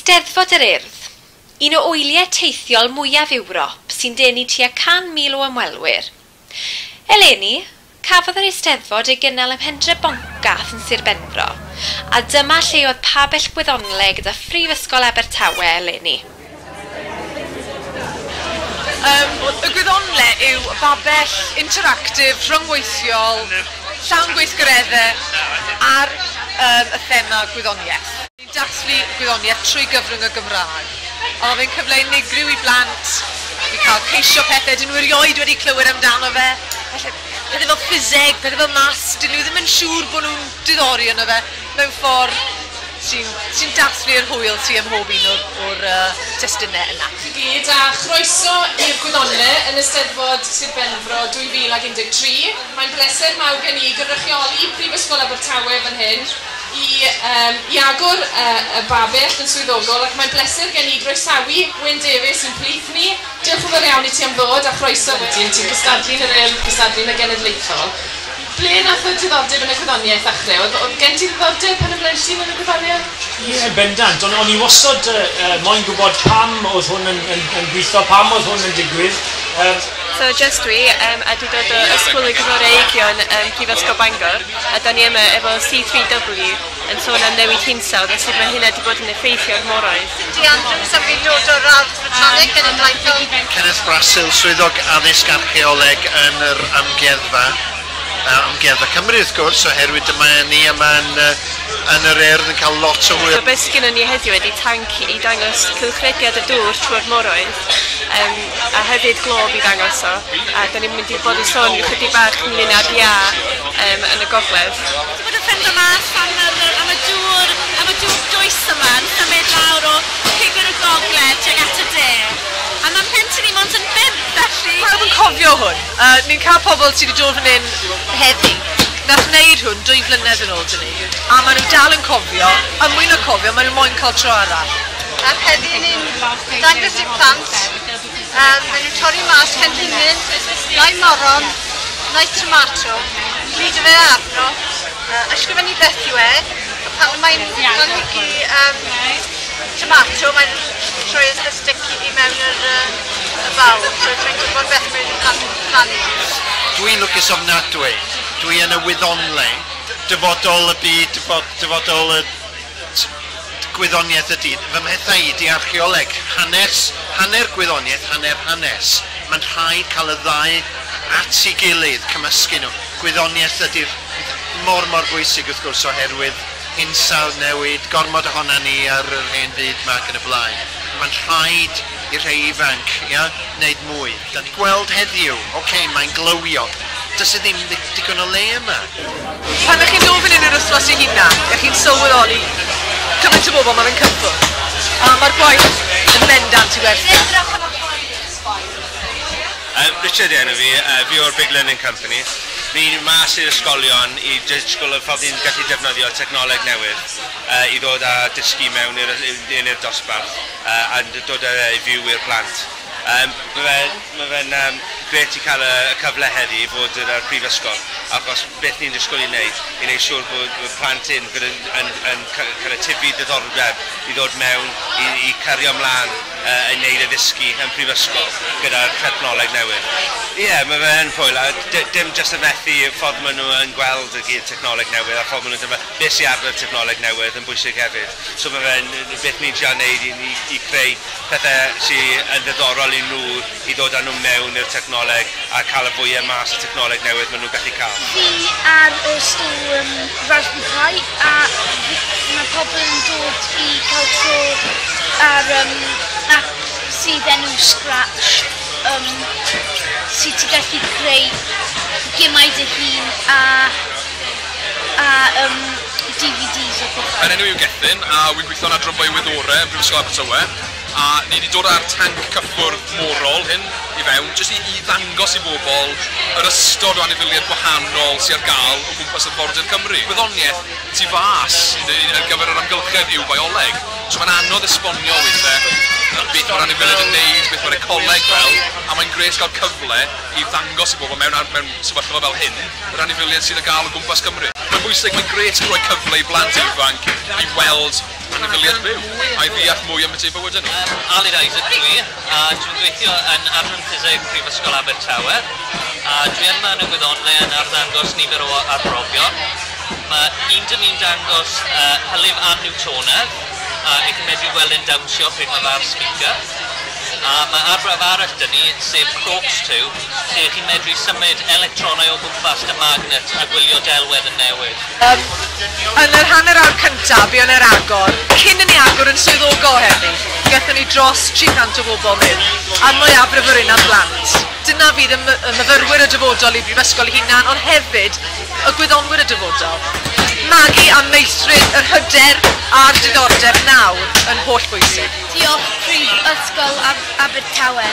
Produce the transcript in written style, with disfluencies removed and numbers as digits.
Eisteddfod yr Urdd, un o wyliau teithiol mwyaf Ewrop sy'n denu tua 100,000 o ymwelwyr. Eleni, cafodd yr Eisteddfod ei gynnal ym Mhendre Boncath yn Sir Benfro, a dyma lle oedd pabell gwyddonle gyda Phrifysgol Abertawe eleni. Y gwyddonle yw babell interactif, rhyngweithiol, llawn gweithgareddau ar y thema gwyddoniaeth. Ni'n dathlu gwyddoniaeth trwy gyfrwng y Gymraeg. A mae fe'n cyfle unigryw i blant i cael ceisio pethau dyn nhw erioed wedi clywed amdano fe. Falle pethau fel ffiseg, pethau fel maths, dyn nhw ddim yn siŵr bod nhw'n diddori yno fe mewn ffordd sy'n dathlu'r hwyl sydd ym mhob un o'r testunau yna. I gyd, a chroeso i'r Gwyddonle yn Eisteddfod Sir Benfro 2013. Mae'n bleser mawr gen i gynrychioli Prifysgol Abertawe fan hyn i agor y babell yn swyddogol, ac mae'n bleser gen i groesawu Wyn Davies sy'n plith ni. Diolch yn fawr iawn i ti am ddod a chroeso. Ti'n cystadlu yn yr Urdd, cystadlu yn y Genedlaethol. Ble nath y diddordeb yn y gwyddoniaeth ddechrau? Oedd gen ti ddiddordeb pan yn blentyn yn y gwyddoniaeth? Ie, yeah, bendant. O'n i wastad moyn gwybod pam oedd hwn yn gweithio, pam oedd hwn yn digwydd. So just dwi, a dwi dod o Ysgol y Gwyddorau Prifysgol Bangor, a da ni yma efo C3W yn sôn am newid hinsawdd a sut mae hynna wedi bod yn effeithio ar moroedd. Cindy Andrews, a fi'n dod o'r Ardd Fotaneg Genedlaethol. Kenneth Brasil, swyddog addysg archeoleg yn yr amgueddfa. Amgueddfa Cymru wrth gwrs, oherwydd dyma ni yma yn yr Urdd yn cael lot o hwyl. So beth sgynnon ni heddiw ydy tanc i dangos cylchrediad y dŵr trwy'r moroedd, a hefyd glob i ddangos o. A da ni'n mynd i bod yn sôn chydig bach ynglyn â'r iâ yn y gogledd. Wedi bod yn ffeindio mas am y dŵr dwys yma yn symud lawr o pigwr y gogledd tuag at y de. A mae'n plentyn i mond yn 5, felly. Pawb yn cofio hwn. Ni'n cael pobl sydd wedi dod fan hyn heddi. Nath wneud hwn 2 flynedd yn ôl dyn ni. A maen nhw dal yn cofio, a mwy na cofio, maen nhw moyn cael tro arall. A heddi ni'n dangos i'r plant. Maen nhw'n torri mas cenhinen, neu moron, neu tomato, gludo fe arno, ysgrifennu beth yw e, a pan mae'n planhigi tomato, mae'n troi y stick i mewn yr y bawl, so mae'n gwybod beth mae'n plannu. Dwi'n lwcus ofnadwy. Dwi yn y wyddonle. Dyfodol y byd, dyfodol y gwyddoniaeth ydy. Fy mhethau i di archeoleg. Hanes, hanner gwyddoniaeth, hanner hanes. Mae'n rhaid cael y ddau at ei gilydd, cymysgu nhw. Gwyddoniaeth ydy'r mor bwysig wrth gwrs oherwydd hinsawdd newid, gormod ohona ni ar yr hen fyd yma ac yn y blaen. Mae'n rhaid i'r rhai ifanc, ia, wneud mwy. Da ni gweld heddiw, oce, mae'n glywio. Does e ddim digon o le yma. Pan ych chi'n dod fan hyn yr wythnos i hunan, ych chi'n sylweddoli cymaint o bobl mae'n cyffwrdd. A mae'r gwaith yn bendant i werthu. Richard enw fi, fi o'r Big Learning Company. Fi'n mas i'r ysgolion i disgwyl y ffordd ni'n gallu defnyddio technoleg newydd i ddod â dysgu mewn i'r dosbarth a dod â i fyw i'r plant. Mae fe'n grêt i cael y cyfle heddi i fod yn y prifysgol, achos beth ni'n disgwyl i wneud siŵr bod plant hyn yn cael y tyfu diddordeb i ddod mewn i cario ymlaen i wneud y ddysgu yn prifysgol gyda'r technoleg newydd. Ie, yeah, mae fe'n hwyl, a dim jyst y methu ffordd maen nhw yn gweld y technoleg newydd a ffordd maen nhw'n dyma beth sy'n arfer technoleg newydd yn bwysig hefyd. So mae fe'n beth ni'n trio wneud i creu pethau sy'n yn ddiddorol i nhw i ddod â nhw mewn i'r technoleg a cael y fwyaf mas y technoleg newydd maen nhw'n gallu cael. Fi ar y stôl Raspberry Pi, a mae pobl yn dod i cael tro ar app sydd enw Scratch, sydd ti'n gallu creu gemau dy hun a DVDs o pethau. Yn enw yw Gethin, a wy'n gweithio yn adran biowyddorau yn Brifysgol Abertawe, a ni wedi dod â'r tanc cyffwrdd morol hyn i fewn, jyst i ddangos i bobl yr ystod o anifeiliaid gwahanol sydd ar gael o gwmpas arfordir Cymru. Gwyddoniaeth tu fas ar gyfer yr amgylchedd yw bioleg, so mae'n anodd esbonio weithiau. beth mae'r anifeiliaid yn neud, beth mae'r ecoleg fel, a mae'n grêt cael cyfle i ddangos i bobl mewn sefyllfa fel hyn, yr anifeiliaid sydd ar gael o gwmpas Cymru. Mae'n bwysig, mae'n grêt rhoi cyfle i blant ifanc i weld anifeiliaid byw, a i ddeall mwy am eu bywydau nhw. Aled Isaac dwi, a dwi'n gweithio yn Adran Ffiseg Prifysgol Abertawe, a dwi yma yn y Gwyddonle yn arddangos nifer o arbrofion. Mae un dyn ni'n dangos hylif an-Newtonaidd, a i chi'n medru gweld e'n dawnsio pryd mae fe ar speaker. A mae arbrawf arall dyn ni, sef Crookes Tube, lle chi'n medru symud electronau o gwmpas y magnet a gwylio delwedd yn newid. Yn yr hanner awr cyntaf, buon ar agor, cyn i ni agor yn swyddogol heddi, gaethon ni dros 300 o bobl mewn, a'r mwyafrif o'r un am blant. Dyna fydd y myfyrwyr y dyfodol i brifysgol hunan, ond hefyd y gwyddonwyr y dyfodol. Magu a meithrin yr hyder a'r diddordeb nawr yn holl bwysig. Diolch Prifysgol Abertawe.